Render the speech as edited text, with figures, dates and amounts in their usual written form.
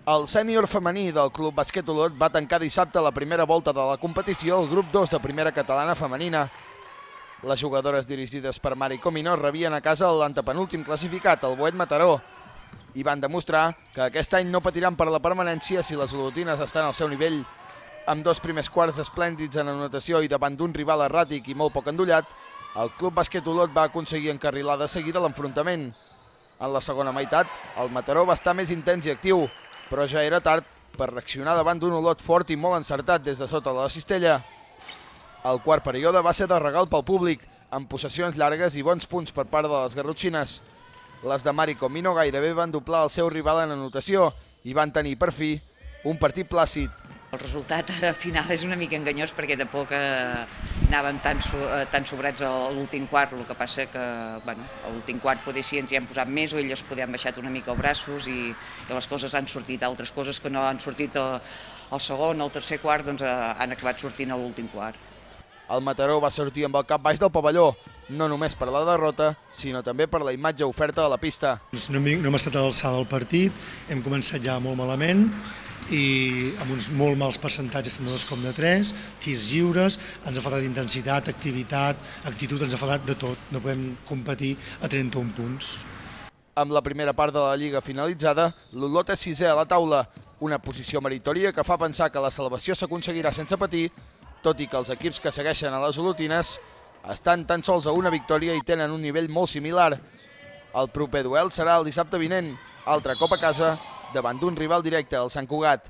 El sènior femení del Club Bàsquet Olot va tancar dissabte la primera volta de la competició al grup 2 de primera catalana femenina. Les jugadores dirigides per Mari Comino rebien a casa l'antepenúltim classificat, el Boet Mataró, i van demostrar que aquest any no patiran per la permanència si les olotines estan al seu nivell. Amb dos primers quarts esplèndids en anotació i davant d'un rival erràtic i molt poc endollat, el Club Bàsquet Olot va aconseguir encarrilar de seguida l'enfrontament. En la segona meitat, el Mataró va estar més intens i actiu, però ja era tard per reaccionar davant d'un Olot fort i molt encertat des de sota de la cistella. El quart període va ser de regal pel públic, amb possessions llargues i bons punts per part de les garrotxines. Les de Mari Comino gairebé van doblar el seu rival en anotació i van tenir, per fi, un partit plàcid. El resultat final és una mica enganyós perquè tampoc anàvem tan sobrats a l'últim quart, el que passa que a l'últim quart potser sí ens hi hem posat més o elles poder han baixat una mica els braços i les coses han sortit, altres coses que no han sortit al segon, al tercer quart, doncs han acabat sortint a l'últim quart. El Mataró va sortir amb el cap baix del pavelló, no només per la derrota, sinó també per la imatge oferta a la pista. No hem estat a l'alçada del partit, hem començat ja molt malament i amb uns molt mals percentatges tant de 2 com de 3, tirs lliures, ens ha faltat intensitat, activitat, actitud, ens ha faltat de tot. No podem competir a 31 punts. Amb la primera part de la Lliga finalitzada, l'Olot és 6è a la taula, una posició meritòria que fa pensar que la salvació s'aconseguirà sense patir, tot i que els equips que segueixen a les olotines estan tan sols a una victòria i tenen un nivell molt similar. El proper duel serà el dissabte vinent, altre cop a casa, davant d'un rival directe, el Sant Cugat.